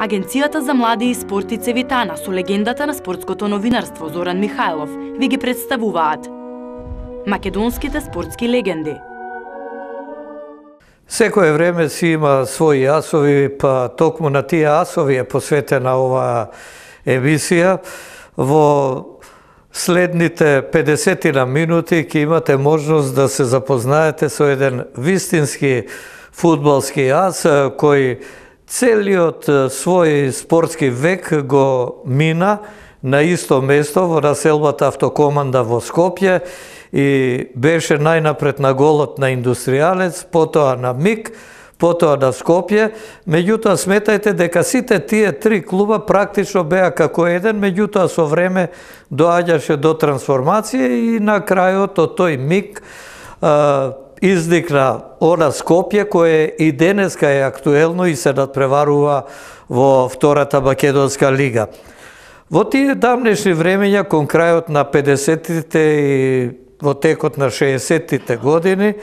Агенцијата за млади и спорт и Цевитана со легендата на спортското новинарство Зоран Михајлов ви ги представуваат македонските спортски легенди. Секое време си има своји асови, па токму на тие асови е посветена оваа емисија. Во следните 50 минути ќе имате можност да се запознаете со еден вистински фудбалски ас кој целиот свој спортски век го мина на исто место во населбата Автокоманда во Скопје и беше најнапред на голот на Индустријалец, потоа на МИК, потоа на Скопје. Меѓутоа сметајте дека сите тие три клуба практично беа како еден, меѓутоа со време доаѓаше до трансформација и на крајот од тој МИК изникна она Скопје кое и денеска е актуелно и се надпреварува во втората македонска лига. Во тие давнешни времења, кон крајот на 50-тите и во текот на 60-тите години,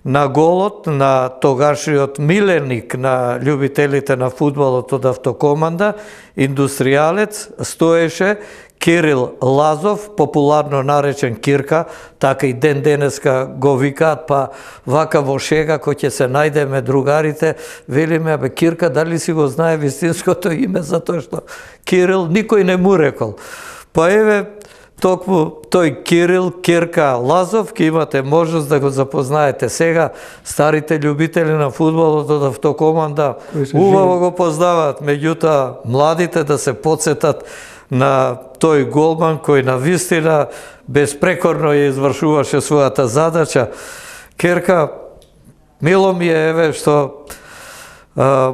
на голот на тогашниот миленик на љубителите на фудбалот од Автокоманда, Индустријалец, стоеше Кирил Лазов, популарно наречен Кирка, така и ден денеска го викаат, па вака во шега кој ќе се најдеме другарите, велиме, абе Кирка, дали си го знае вистинското име, затоа што Кирил никој не му рекол. Па еве, токму тој Кирил, Кирка Лазов, ќе имате можност да го запознаете сега. Старите љубители на фудбалот од Автокоманда убаво го познаваат, меѓутоа младите да се потсетат на тој голман кој на вистина безпрекорно ја извршуваше својата задача. Керка, мило ми е еве што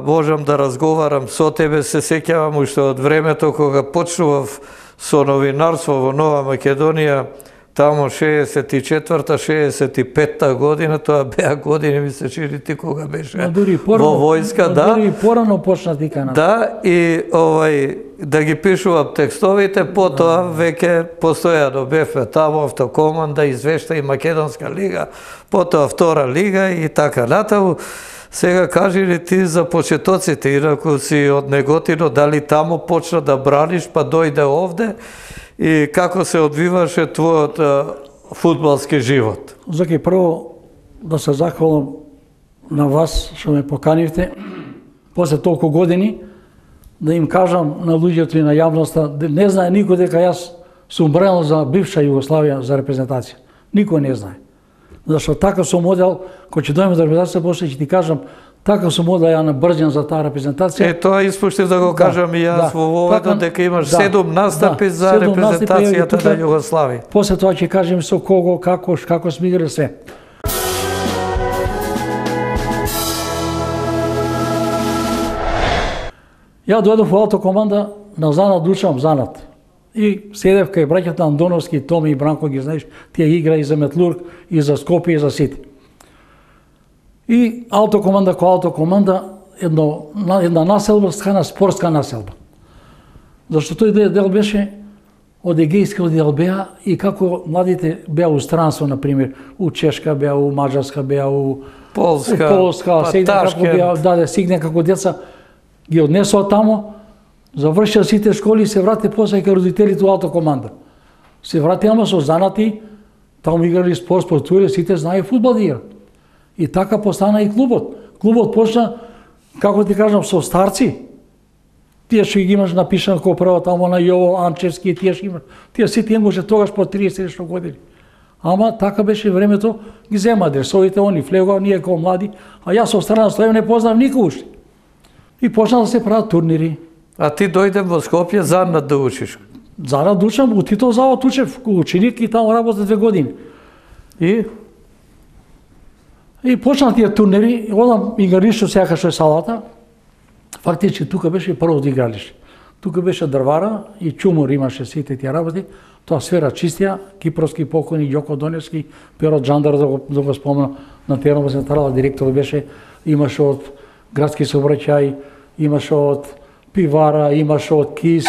можам да разговарам со тебе, се сеќавам уште од времето кога почнував со новинарство во Нова Македонија, тамо 64-65 година, тоа беа години, ми се чини ти кога беше во војска, да. Дури порано почна ти канал. Да, и да ги пишувам текстовите, потоа веќе постојано бевме тамо Автокоманда, извешта и Македонска лига, потоа втора лига и така натаму. Сега кажи ли ти за почетоците, инаку си од Неготино, дали тамо почна да браниш, па дојде овде и како се одвиваше твојот фудбалски живот? Заки, прво да се захвалам на вас што ме поканивте, после толку години, да им кажам на луѓето и на јавноста, не знае никој дека јас сум бранел за бивша Југославија за репрезентација. Никој не знае. Зашто така сум одел, кој ќе дојме за репрезентација, после ќе ти кажам, така сум одел ја на брзен за таа репрезентација. Тоа испуштив да го кажам и јас во воведот, дека имаш 7 настапи за репрезентацијата на Југославија. После тоа ќе кажем со кого, како сме играли све. Ја дојдов во Автокоманда на занат, учам занат. И седев кај браќата Андоновски, Томи и Бранко, ги знаеш, тие игра и за Метлург, и за Скопје, и за сите. И Автокоманда кој Автокоманда, една населба стана спортска населба. Зашто тој дел беше од егејскиот дел беа и како младите беа у странство, например, у Чешка беа, у Маđarска беа, у Полска, сигне како деца, ги однесоа тамо, завршија сите школи и се врати после кај родителите у Автокоманда. Се врати ама со занати, таму играли спорт, спортувале, сите знае фудбал да играат. И така постана и клубот. Клубот почна, како ти кажам, со старци. Тие што ги имаш напишано како прво тамо на Јово Анчевски, тие што имаш. Тие сите имаше тогаш по 30 нешто години. Ама така беше времето, ги зема адресовите, они влегоа, ние како млади, а јас со страна стојам, не познав никој уште. И почна да се прават турнири. А ти дојдем во Скопје занат да учиш? Занат да учам, у Титов завод учев ученик и таму работа 2 години. И почна тие турнири, одам игралишто сега што е салата. Фактички тука беше првото игралиште. Тука беше дрвара и чумур имаше сите тие работи. Тоа сфера чистија, кипровски покойни Ѓоко Доневски, Перо Джандар да го спомна, на теренот централа директор беше, имаше од градски сообраќај, имаше од пивара, имаше од КИС,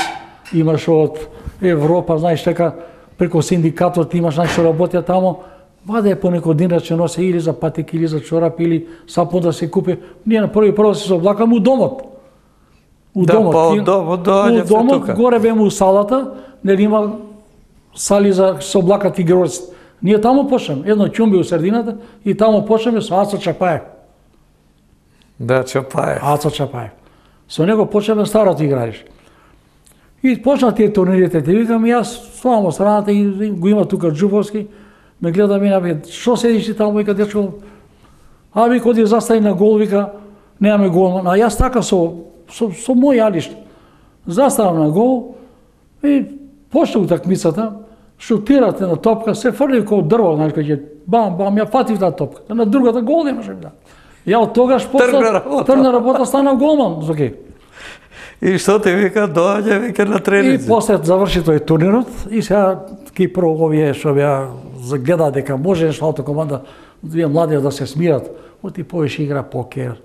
имаше од Европа, знаеш така, преку синдикатот имаш што работеа тамо, ваде по некој динарче носе или за патеки, или за чорапи, или сапун да се купи. Ние на прво се облакаме у домот. У Да, домот. па од домот У доаѓавте домот, тука. горе беме у салата, нели има сали за со облакат игралци. Ние таму почнеме, едно ќумби у средината и таму почнеме со Ацо Чапаев. Да, Чапаев. Ацо Чапаев. Со него почнеме старото игралище. И почна тие турнирите, те викам, јас ставам од страната и го има тука Џуповски, ме гледа мене, бе, што седиш ти таму, вика, дечко, аби коди застави на гол, вика, немаме голман, а јас така со мој јалиште. Заставам на гол и почна утакмицата, шутирате на топка, се фрли како дрво, знаеш, кога ќе бам, бам, ја фатив таа топка. На другата гол немаше да. Ја од тогаш тргна работа, станав голман, окей. И што ти вика, доаѓа вика на И тренинг. после заврши тој турнирот и сега Кипро овие што беа гледа дека може нешто автокоманда, вие млади да се смират, оти повеќе игра покер,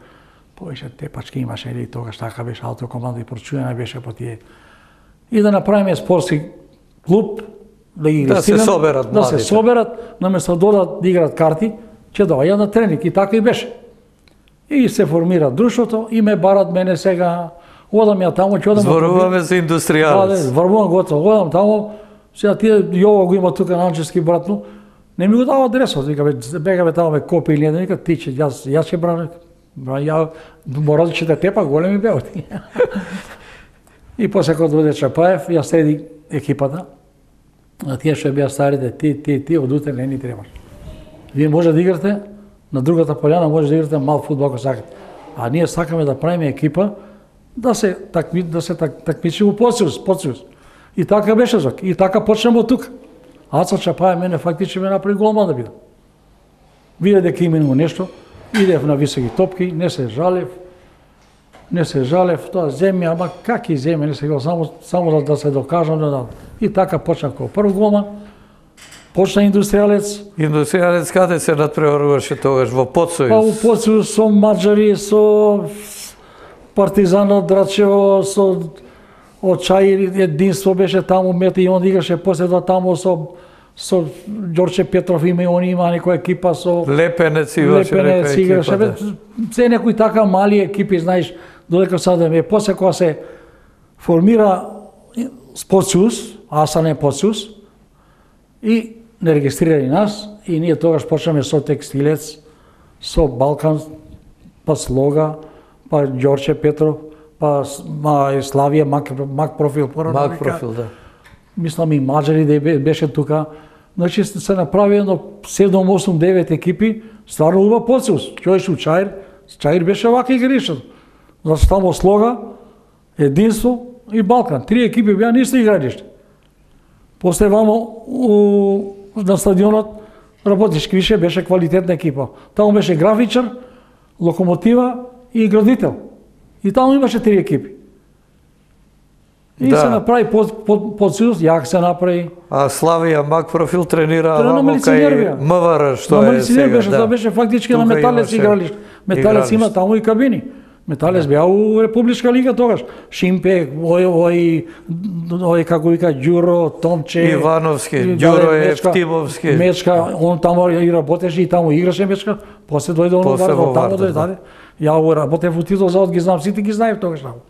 повеќе тепачки имаше или тогаш така беше автокоманда и прочуена беше по тие. И да направиме спортски клуб, да ги Да се соберат да се младите. соберат, наместо да одат да играат карти, ќе доаѓаат на тренинг и така и беше. И се формира друштвото и ме барат мене сега, одам ја таму, ќе одам. Зборуваме за индустријалец. Врвувам готово, одам таму, сега тие Јово го има тука Нанчевски братно, не ми го дава адресот, вика, бегаме таму ме копи или не, вика, ти ќе, јас ќе бранам, ја мора да чете тепа, големи беа. И после кога дојде Чапаев, ја среди екипата, а тие што беа старите, ти од утре не ни требаш. Вие може да играте, на другата пољана може да играте мал фудбал ако сакате. А ние сакаме да правиме екипа, да се такмичи во подсојуз. И така беше зок. И така почнемо од тука. Ацо Чапаев мене фактично ме направи голман да бидам. Виде дека именно нешто, идев на високи топки, не се жалев, тоа земја, ама каки земја, не се гал, само да се докажам да. И така почнав како прв голман, почна индустријалец. Индустријалец каде се надпреваруваше тогаш во Подсојуз? Па у Подсојуз со Маđари, со Партизанот Драчево, со Очаир, единство беше таму, мета и он играше после тоа таму со Ѓорче Петров има некоја екипа со Лепенец имаше некоја играше. екипа. Се некои така мали екипи, знаеш, додека садеме. После кога се формира Подсојуз, Асане Подсојуз, и не регистрирали нас, и ние тогаш почнеме со Текстилец, со Балкан, па Слога, па Ѓорче Петров, па Славија, Мак Профил. Мак Профил, да. Мислам и Маđари да беше тука. Значи се направи едно 7, 8, 9 екипи, стварно убав Подсојуз. Ќојш у Чаир беше вака игришен. Значи тамо Слога, Единство и Балкан. 3 екипи беа на исто игралиште. После вамо на стадионот работиш више, беше квалитетна екипа. Таму беше графичар, Локомотива и Градител. И таму имаше 3 екипи. И се направи Подсојуз, јак се направи. А Славија Мак Профил тренира на вамо Милиционер кај МВР, што на е сега. беше, тоа беше фактички на Металец игралиште. Металец има таму и кабини. Металец беа у Републичка лига тогаш. Шимпе, ој како вика Ѓуро, Томче, Ивановски, Ѓуро Евтимовски. Мечка, он таму и работеше и таму играше Мечка. После дојде он во таму дојде. Ја работев у Титов завод, ги знам, сите ги знаев тогаш таму.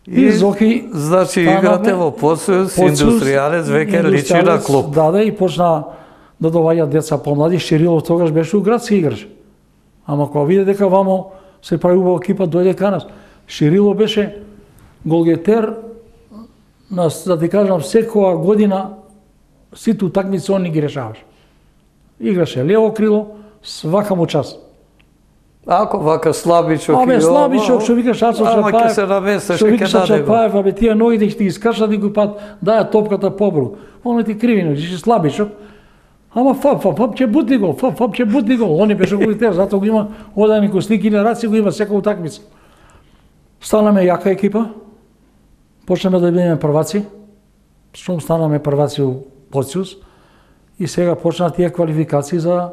И Зоки, значи играте во Подсојуз, индустријалец, веќе личи на клуб. Да, и почна да доаѓаат деца помлади. Ширилов тогаш беше у градски играч. Ама кога виде дека вамо се прави убава екипа, дојде кај нас. Ширилов беше голгетер, да ти кажам, секоја година сите утакмици он ги решаваше. Играше лево крило, свака му час. Ако вака слабичок Абе, слабичок, што викаш Ацо Чапаев. Ама ќе се наместеш, што викаш ќе даде го. Чапаев, абе тие ноги ќе ти искашат и го пат даја топката побру. Он ти кривино, ти слабичок. Ама фап, ќе бутни гол, фап, ќе бутни гол. Он беше голитер, затоа го има одани ко слики генерации, го има секоја утакмица. Станаме јака екипа. Почнеме да бидеме прваци. Што станаме прваци у Подсојуз. И сега почнаа тие квалификации за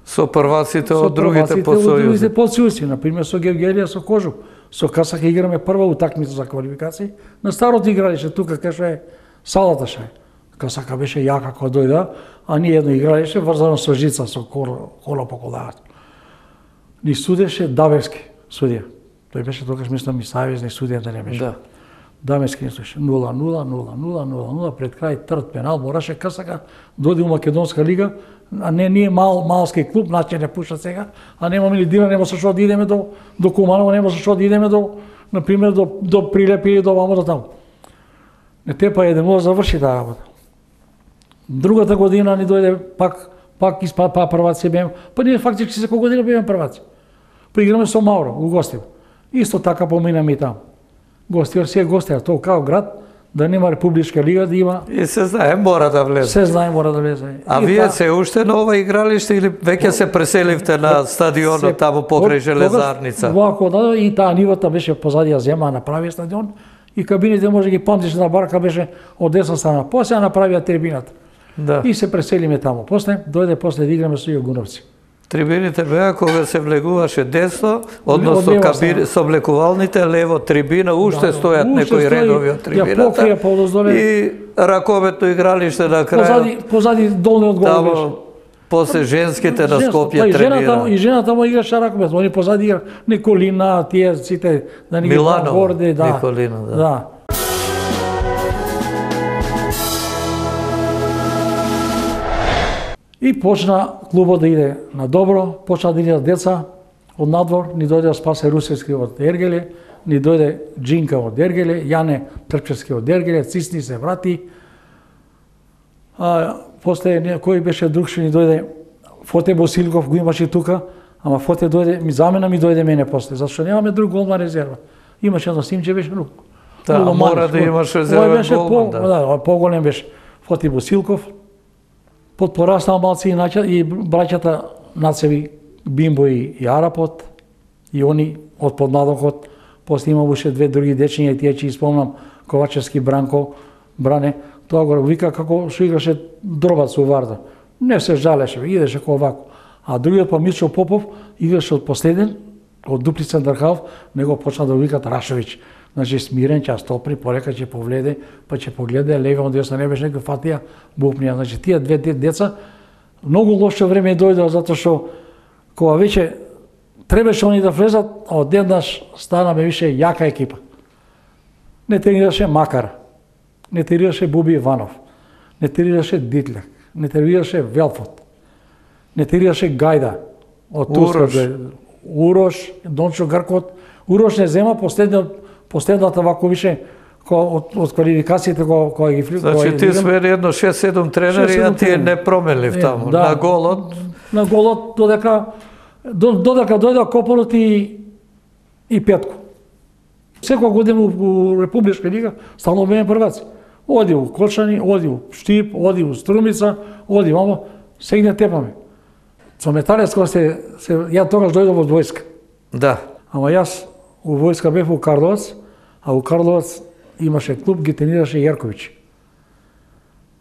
со прваците од другите подсојузи. Подсојузи, на пример со Гевгелија, со Кожук. Со Касак играме прва утакмица за квалификации. На старото игралище тука кај што е салата ше. Касака беше јака кога дојде, а ние едно игралище врзано со жица, со кола по колаат. Ни судеше Давевски судија. Тој беше тогаш, мислам, и савезник судија да не беше. Да. Дамески не слуша. 0-0 пред крај трд пенал, мораше касака, дојде у Македонска лига, а не ние малски клуб, значи не пуша сега, а немаме ли дира, нема со што да идеме до Куманово, нема со што да идеме на пример до Прилепи или до вамо до таму. Не те па едемо заврши таа работа. Другата година ни дојде пак испа прваци беме, па ние фактички секоја година беме прваци. Поиграме со Мауро, у гостив. Исто така поминаме и таму. Гостив се гостија, тоа као град, да нема Републичка лига, да има... И се знае, мора да влезе. Се знае, мора да влезе. А вие се уште на ова игралиште или веќе се преселивте на стадионот таму покрај Железарница? Вако да, и таа нивата беше позади ја зема, направи стадион, и кабините може ги памтиш на барка беше од десна страна. После ја направија трибината. Да. И се преселиме таму. После да играме со Југуновци. Трибините беа кога се влегуваше десно, односно кабини со облекувалните лево трибина, уште стојат некои редови од трибината. И раковетно игралиште на крај. Позади долниот гол беше. После женските на Скопје тренира. И жената му играше раковет, они позади игра Николина, тие сите да ни ги горде, да. Николина, да. И почна клубот да иде на добро, почна да идат деца од надвор, ни дојде Спасе Русевски од Ергеле, ни дојде Джинка од Ергеле, Јане Трпчевски од Ергеле, Цисни се врати. После кој беше друг што ни дојде, Фоте Босилков го имаше тука, ама Фоте дојде, замена ми дојде мене после, зашто немаме друг голман резерва. Имаше едно Симче беше друг. Да, мора да имаш резервен голман, да. Поголем беше Фоте Босилков. Пораснал малци и браќата Нацеви, Бимбо и Арапот, и они од подмладокот, после имаше две други дечиња, и тие че испомнам, Ковачевски Бранко, Бране, тоа го вика како што играше дробац у Варда. Не се жалеше, идеше како овако. А другиот па Мичо Попов играше од последен, од Дуплица Дрхалов, него почна да викат Рашовиќ. Значи смирен, ќе стопри, порека ќе повледе, па ќе погледа, лево од десно не беше некој фатија, бупнија. Значи тие две деца многу лошо време дојдоа затоа што кога веќе требаше они да влезат, а одеднаш станаме више јака екипа. Не тренираше Макар, не тренираше Буби Иванов, не тренираше Дитлек, не тренираше Велфот, не тренираше Гајда од Турска, Урош, Дончо Гркот. Урош не зема последната вако више од квалификациите кога ги влиза. Значи ти смени едно 6-7 тренери, а ти не променлив таму. На голот. На голот додека дојде Копорот и Петко. Секоја година у Републичка лига стално беме прваци. Оди у Кочани, оди у Штип, оди у Струмица, оди мамо, сегне тепаме. Со Металец кога ја тогаш дојдов од војска. Да. Ама јас у војска бев у Карловац, а у Карловац имаше клуб, ги тренираше Јерковиќ.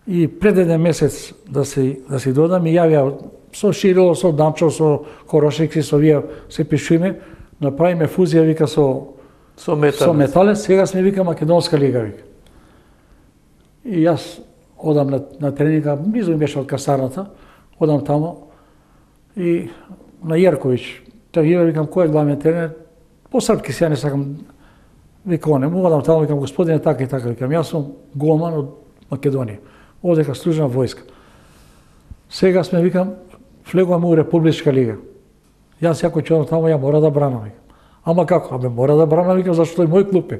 И пред еден месец да си додам, и јавија со Ширило, со Дамчо, со Корошекси, со вие се пишуме, направиме фузија, вика, со Металец, сега сме, вика, Македонска лига, вика. И јас одам на тренинга, близо ми беше од касарната, одам тамо, и на Јерковиќ, викам, кој е главниот тренер? По српски се не сакам, вика, не мога да тамо, викам, господине, така и така, викам, јас сум голман од Македонија, одека служам војска. Сега сме, викам, влегуваме у Републичка лига. Јас јако ќе одам тамо, ја мора да бранам, викам. Ама како? Абе, мора да бранам, викам, зашто тој мој клуб е.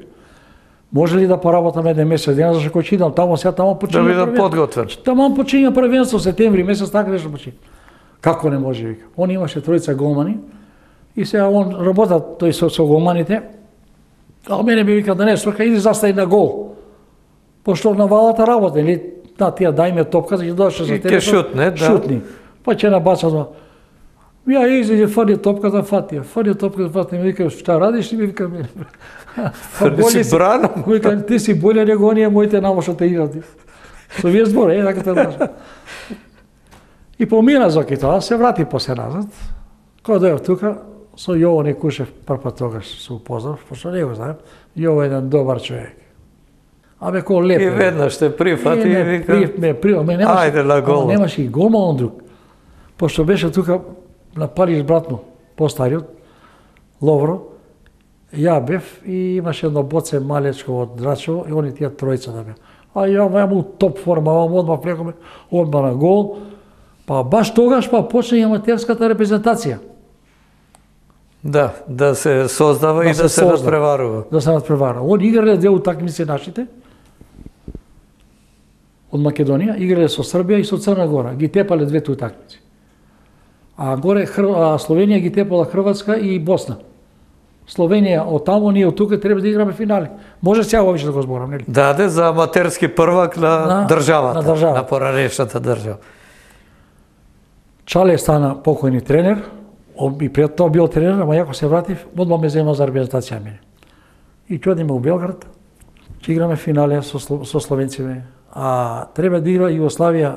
Може ли да поработам еден месец дена, зашто кој ќе идам тамо, сега тамо почиња првенство. Да бидам подготвен. Тамо почиња првенство, септември месец, така нешто почиња. Како не може, вика. Он имаше тројца голмани, и сега он работа тој со голманите, а мене би вика да не сврка, иди застај на гол. Пошто на валата работа, или да, тие дајме топка, ќе дојдеше за тебе. Ќе шутне, да. Шутни. Па ќе набаца два. Ја изиде, фади топката, фати ја. Ми вика, шта радиш? Ми вика, си бранам. Вика, ти си боле него оние моите намо што те играт. Со вие збор, така те знаеш. И помина Зоки тоа, се врати после назад. Кога дојав тука, со Јово Некушев прв тогаш се упознав, пошто не го знаем. Јово е еден добар човек. Абе, кој леп. И веднаш те прифати и вика, ајде на гол. Немаше и голман друг. Пошто беше тука на Париж братно, постариот, Ловро, ја бев и имаше едно боце малечко од Драчево и они тие тројца да беа. А ја му топ форма, одма влекоме, одма на гол. Па баш тогаш почна и аматерската репрезентација. Да се создава и да се надпреварува. Да се надпреварува. Они играле две утакмици нашите од Македонија, играле со Србија и со Црна Гора. Ги тепале двете утакмици. А горе Словенија ги тепала Хрватска и Босна. Словенија од таму, ние од тука треба да играме финали. Може сега вовече да го зборам, нели? Даде за аматерски првак на државата, на поранешната држава. Чале стана покојни тренер, и пред тоа бил тренер, ама јако се вратив, одма ме зема за репрезентација мене. И чодиме у Белград, че играме финале со словенците, а треба да игра Југославија,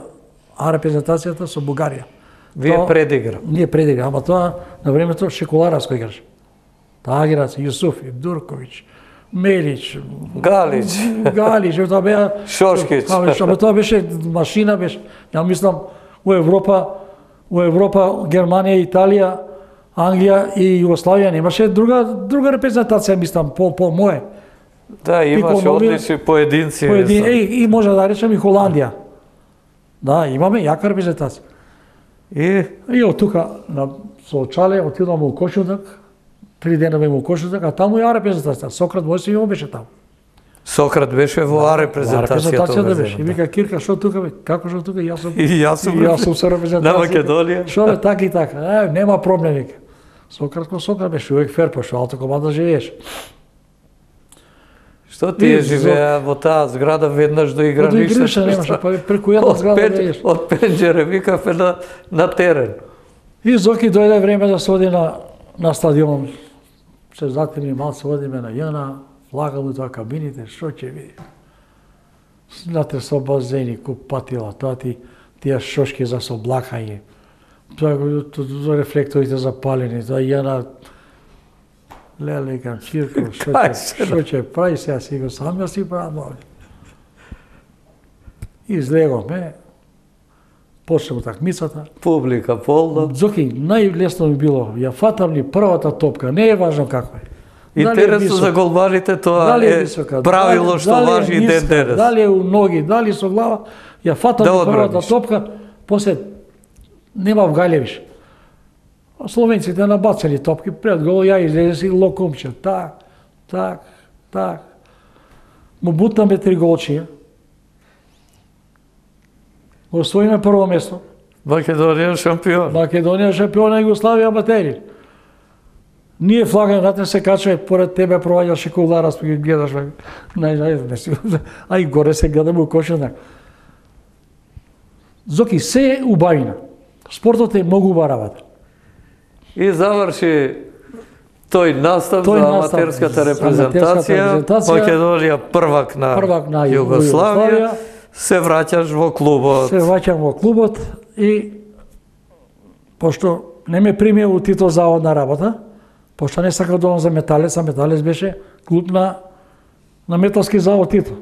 а репрезентацијата со Бугарија. Вие предигра? Ние предигра, ама тоа на времето Шекуларовско играше. Таа играце, Јусуфи, Дурковиќ, Мелич, Галич, тоа беа Шошкич. Ама тоа беше машина, беше. Ја мислам у Европа, Германија, Италија, Англија и Југославија немаше друга репрезентација, мислам, по мое. Да, имаше одлични поединци. И може да речем и Холандија. Да, имаме јака репрезентација. И од тука со Чале отидовме у Кошудак, 3 дена беме у Кошудак, а таму ја репрезентација. Сократ Мојсијов беше таму. Сократ беше во репрезентацијата. Да беше. И вика Кирка, што тука бе? Како што тука? Јас сум со репрезентација. На Македонија. Што бе, така и така. Нема проблем, вика. Сократ беше увек фер, пошто алто команда живееш. Што тие живеа во таа зграда веднаш до игралиште? До игралиште немаше, па преку една зграда живееш. Од пенџере викаве на терен. И Зоки дојде време да се оди на стадион. Се затвори малце, одиме на Јана, влагам у тоа кабините, што ќе види? Знате, со базени, купатила, тие шошки за соблакање, рефлекторите запалени, тоа Јана, леле, викам, Чирко, што ќе прави сега, си го сам ја си правам овде. Излеговме, почне утакмицата. Публика полна. Зоки, најлесно ми било, ја фатам ли првата топка, не е важно како е. Интересно за голманите, тоа е правило што важи и ден денес. Дали е у ноги, дали со глава, ја фатам ли првата топка, после нема вгаљевиш. Словенците набацали топки, пред гол ја излезе си локумче, так. Му бутнаме 3 голчија. Освоиме прво место. Македонија шампион. Македонија шампион, а Југославија аматери. Ние флагаме, знате, се качува, поред тебе проваѓа Шекулара, ги гледаш, а и горе се гледаме у Кошудак. Зоки, се е убавина. Спортот е многу убава работа. И заврши тој настав за аматерската репрезентација, Македонија првак на Југославија, се враќаш во клубот. Се враќам во клубот и пошто не ме примија у Тито заводна работа, пошто не сакав да одам за Металец, а Металец беше клуб на Металски завод Тито.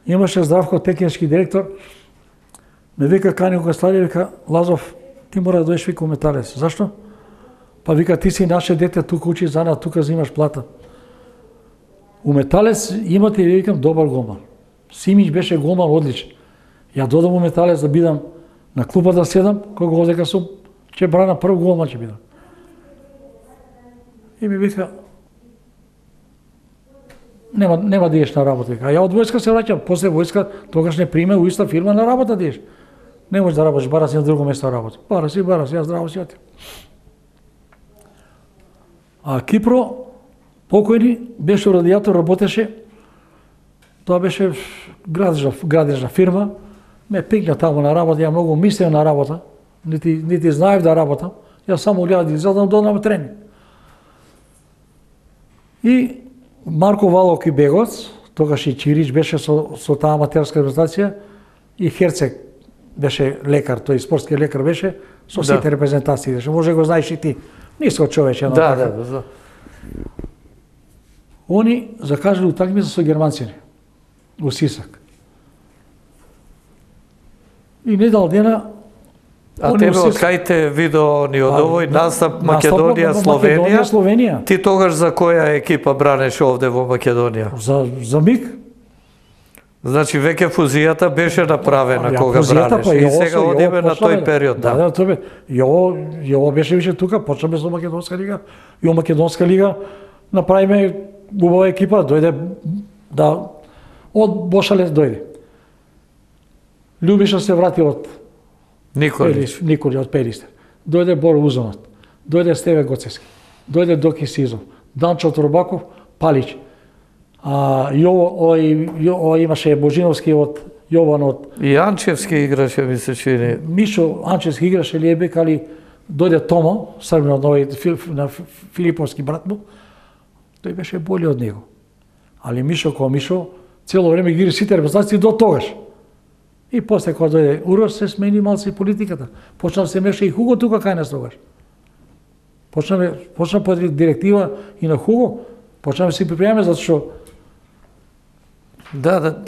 Имаше Здравко, технички директор, ме вика кани кога стади, вика Лазов, ти мора да дојдеш вика у Металец. Зашто? Па вика ти си наше дете, тука учи занат, тука взимаш плата. У Металец имате, викам, добар голман. Симич беше голман одличен. Ја додам у Металец да бидам на клупа да седам, кога дека сум, ќе брана прв голман ќе бидам. И ми вика, нема да идеш на работа. А ја од војска се враќам, после војска тогаш не приме у иста фирма на работа да идеш. Не можеш да работиш, бара си на друго место работа. Бара си, ја здраво си отив. А Кипро, покојни, беше радијатор, работеше, тоа беше градежна фирма, ме пикна таму на работа, ја многу мислев на работа, нити знаев да работам, ја само гледам да изгледам, додам тренинг. И Марко Валовки бегоц, тогаш и Чирич беше со таа аматерска репрезентација, и Херцег беше лекар, тој спортски лекар беше, со сите репрезентации, може го знаеш и ти. Ниско човече, но така. Да. Они закажали утакмица со германците у Сисак. И недал дена А тебе од кај те видео ни од овој настап Македонија, Словенија? Ти тогаш за која екипа бранеше овде во Македонија? За МИК. Значи веќе фузијата беше направена кога бранеше и сега одиме на тој период. Да, тоа бе. Јово беше више тука, почнаме со Македонска лига. И во Македонска лига направиме убава екипа, дојде од Бошалец дојде. Љубиша се врати од Николи од Перистер. Дојде Боро Узонот, дојде Стеве Гоцевски, дојде Доки Сизов, Данчо Торбаков, Палич. Јово имаше Божиновски од Јован од... И Анчевски играше, ми се чини. Мишо Анчевски играше Лиебек, али дојде Томо, Србин од на Филиповски брат му, тој беше боли од него. Али Мишо кој Мишо, цело време ги игри сите репрезентации до тогаш. И после кога дојде Урос се смени малце и политиката. Почна се меша и Хуго тука кај нас тогаш. Почна по директива и на Хуго, почнаме се припремаме затоа што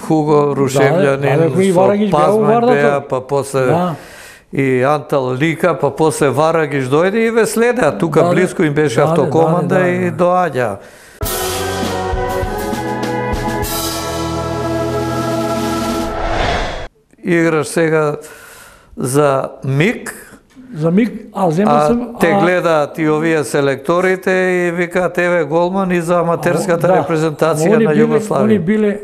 Хуго Рушевљанин, со Пазман беа, па после и Антал Лика, па после Варагиш дојде и ве следеа. Тука близко им беше автокоманда и доаѓа. Играш сега за МИК, те гледаат и овие селекторите и викаат еве голман и за аматерската репрезентација на Југославија. Они биле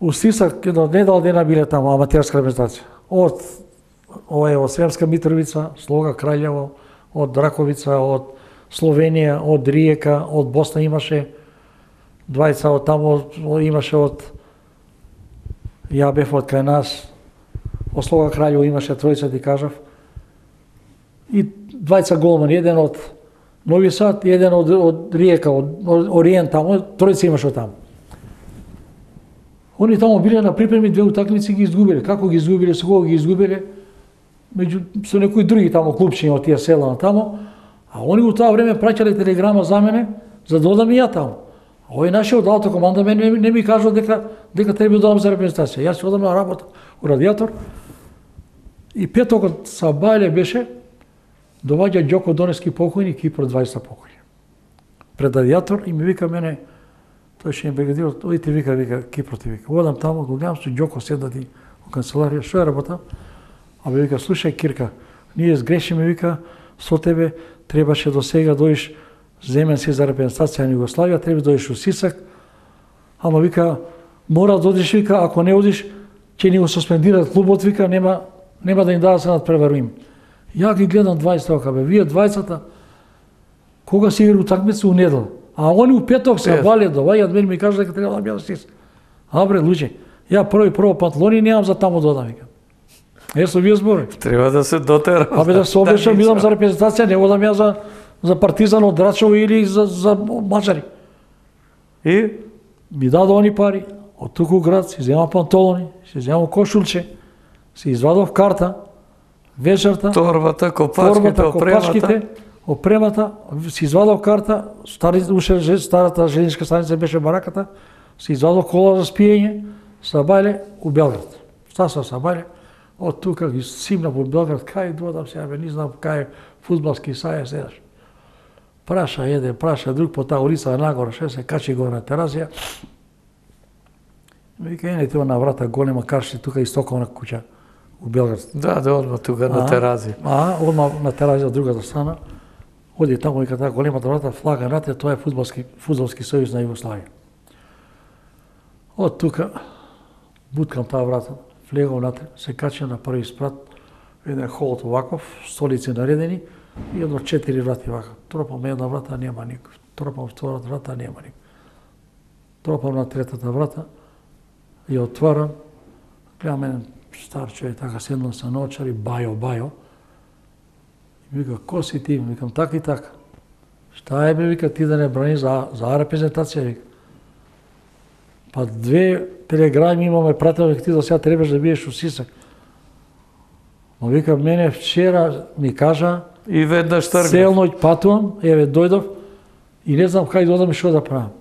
у Сисак, едно недел дена биле таму аматерска репрезентација. Од Сремска Митровица, Слога Краљево, од Раковица, од Словенија, од Риека, од Босна имаше двајца, од таму имаше од ја бев од кај нас, од Слога Краљево имаше тројца, ти кажав. И двајца голмани, еден од Нови Сад и еден од Риека, од Ориент таму, тројца имаше од таму. Они таму биле на припреми, две утакмици ги изгубиле. Како ги изгубиле, со кого ги изгубиле? Со некои други таму клубчиња од тие села на таму, а они у тоа време праќале телеграма за мене за да одам и ја таму. А овој нашиот автокоманда не ми кажува дека треба да одам за репрезентација. Јас одам на работа у Радиатор и петокот са Бајле беше доваѓа Ѓоко Донески покојни, Кипро 20 покојни. Пред Радиатор и ми вика мене, тој ше им бригадир, оди ти вика, Кипро ти вика. Одам таму, го гледам со Ѓоко седати во канцеларија, што е работа? А бе вика, слушај Кирка, ние сгрешиме, вика, со тебе требаше до сега дојдеш земен си за репрезентација на Југославија, треба да дојдеш у Сисак, ама вика, мора да одиш, вика, ако не одиш, ќе ни го суспендираат клубот, вика, нема да им дадат се надпреварувим. Ја ги гледам 20 ока, бе, вие 20-та, кога си игра утакмица у недел, а они у петок се вале доваѓаат мене ми кажат дека треба да бидам Сисак. Абре, луѓе, ја прво панталони немам за таму да одам, вика. Со вие збори. Треба да се дотера. Абе да се обешам, бидам за репрезентација, не одам ја за Партизан од Драчево или за Мачари. И? Ми дадо они пари, од туку град, си земам панталони, си земам кошулче, си извадов карта, вечерта, торбата, копачките, опремата, си извадов карта, старата железниčka станица беше бараката, си извадов кола за спиење, са Бајле у Белград. Стасав са Бајле, од тука ги симна по Белград, кај додам сега, не знам кај фудбалски саје седаш. Праша еден, праша друг по таа улица нагоре, ше се качи горе на терасија. Вика, ене тоа на врата голема карши тука истоковна куќа у Белград. Да, одма тука на терази. Одма на терази од другата страна. Оди таму и таа големата врата, флага натре, тоа е фудбалски сојуз на Југославија. Од тука буткам таа врата, влегам натре, се качам на први спрат, еден холот оваков, столици наредени и едно 4 врати вака. Тропам една врата, нема никој. Тропам втората врата, нема никој. Тропам на третата врата и отварам, гледам еден стар човек, така седнал са наочари, Бајо. И вика, ко си ти? Викам, така и така. Шта е бе, вика, ти да не брани за репрезентација, вика. Па 2 телеграми имаме пратено, вика, ти за сега требаш да биеш у Сисак. Но вика, мене вчера ми кажа, и веднаш тргнав. Цел ноќ патувам, еве дојдов и не знам кај да одам и што да правам.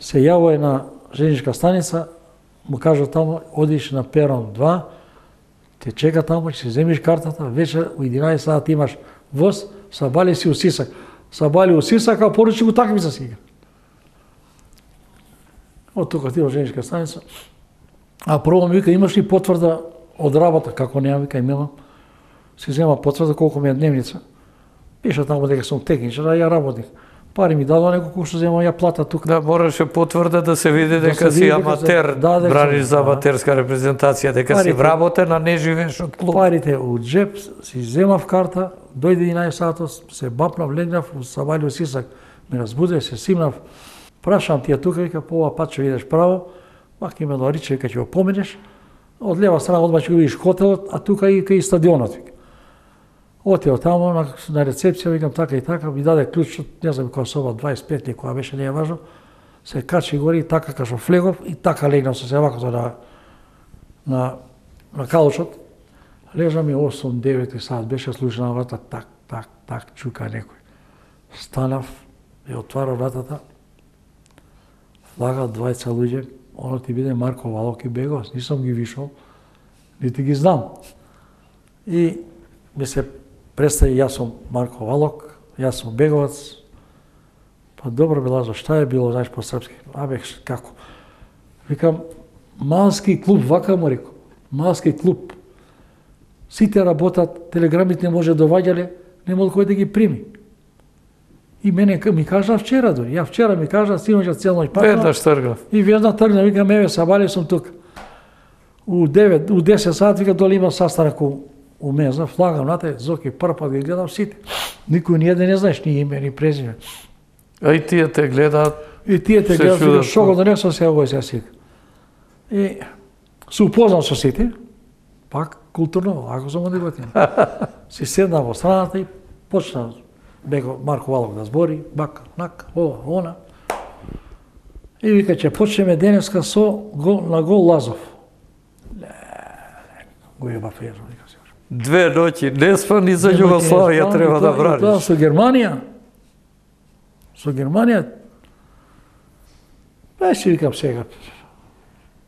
Се јавува на железничка станица, му кажа таму, одиш на перон 2, те чека таму, ќе си земиш картата, вечер у 11 сат имаш воз, сабали си у Сисак. Сабали у Сисак, а поручи го такмица си игра. Од тука ти во женишка станица. А прво ми вика, имаш ли потврда од работа? Како нема, вика, имам. Си зема потврда колку ми е дневница. Пиша таму дека сум техничар, а ја работник. Пари ми дадо неколку што земам ја плата тука. Да, мораше потврда да се види дека си аматер, браниш за аматерска репрезентација, дека си вработен, а не живееш од клуб. Парите у джеп, си земав карта, дојде 11 сатот, се бапнав, легнав, сабали у Сисак, ме разбуде, се симнав. Прашам ти ја тука, вика, по ова пат ќе видиш право, пак има Лариче, вика, ќе го поминеш, од лева страна одма ќе го видиш хотелот, а тука и стадионот, вика. Отио таму на рецепција, викам така и така, ми даде клучот, не знам која соба 25 ли, која беше, не е важно, се качи гори и така кашо флегов и така легнав со севакото на калучот. Лежам и 8-9 сат, беше слуша на врата, так, чука некој. Станав и отварав вратата, влагат двајца луѓе, оно ти биде Марко Валок и Бегос, нисам ги вишал, нити ги знам. И ми се представи, јас сум Марко Валок, јас сум Беговац. Па добро било, шта е било, знаеш, по српски? Абе, како? Викам, малски клуб, вака му реко, малски клуб. Сите работат, телеграмите не може доваѓале, нема кој да ги прими. И мене ми кажа вчера дори, ја вчера ми кажа, синоќа цел ноќ пакна. Веднаш тргнав. И веднаш тргнав, викам, еве, сабали сум тука. У 10 сат, вика, доли има састанак у мене, флагам нате, Зоки, прв пат ги гледам сите. Никој ни еден не знаеш ни име, ни презиме. А и тие те гледаат. И тие те гледаат, вика, шо го донесо се овој се сика. И се упознам со сите, пак културно, ако сум одиготен. Си седнав во страната и почна Марко Валок да збори, бака, нака, ова, она. И вика, ќе почнеме денеска на гол Лазов. Го јеба фезо, вика се. 2 ноќи, не спани за Југославија треба да браниш. Тоа со Германија. Со Германија. Беше, викам сега.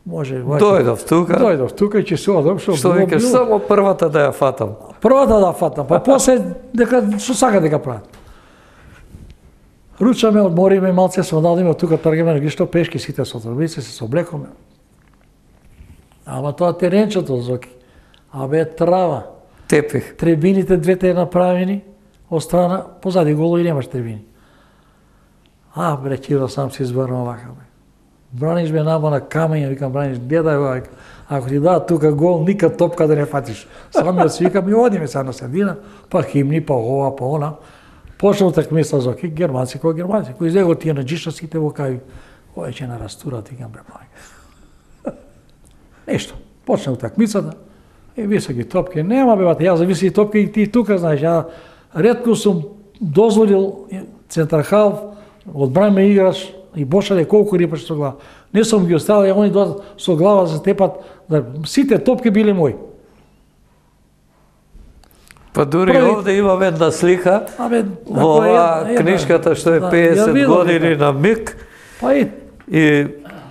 Може, Дојдов тука. Дојдов тука и ќе се одам, што викаш, само првата да ја фатам. Првата да фатам, па после дека што сака дека прават. Ручаме, одмориме, малце се одадиме, тука тргаме, ги што пешки сите со трбице, се соблекоме. Ама тоа теренчето, Зоки, абе трава. Тепих. Трибините двете направени, од страна, позади голови немаш трибини. А, бре, Киро, сам си избрано овака, бе. Браниш ме намо на камења, викам, браниш, гледај овака. Ако ти дадат тука гол, никад топка да не фатиш. Самиот си викам и одиме сега на средина, па химни, па ова, па она. Почна утакмица, Зоки, германци кој германци, кој излего тие на джиша сите во кај, ој ќе нарастурат, викам, бре, мајка. Нешто, почна утакмицата, и високи топки, нема бе, бате, ја за високи топки и ти тука, знаеш, ја ретко сум дозволил центрахалф, одбраме играш и бошале колку рипаш со глава. Не сум ги оставил, они доаѓаат со глава за тепат, да сите топки биле мои. Па дури овде имаме една слика, во оваа книжката што е 50 години на миг, и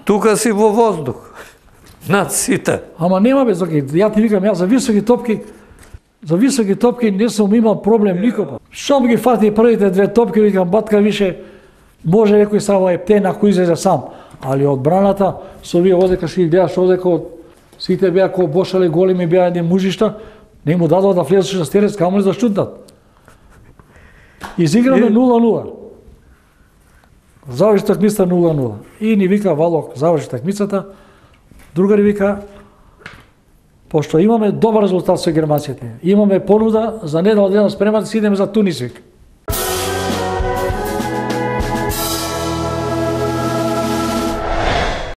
тука си во воздух. Над сите. Ама нема бе, Зоки, ја ти викам, ја за високи топки не сум имал проблем никога. Шом ги фати првите 2 топки, викам, батка више, може некој само ептен ако излезе сам. Али одбраната, со вие одека си гледаш одека, сите беа ко бошале големи, беа едни мужишта, не му дадоа да влезеш на стерец, камо ли да шутнат. Изиграме 0-0. Заврши такмица 0-0. И ни вика Валок, заврши такмицата, другари вика, пошто имаме добар резултат со германците, имаме понуда за недела дена спремат да си идеме за Тунис, вика.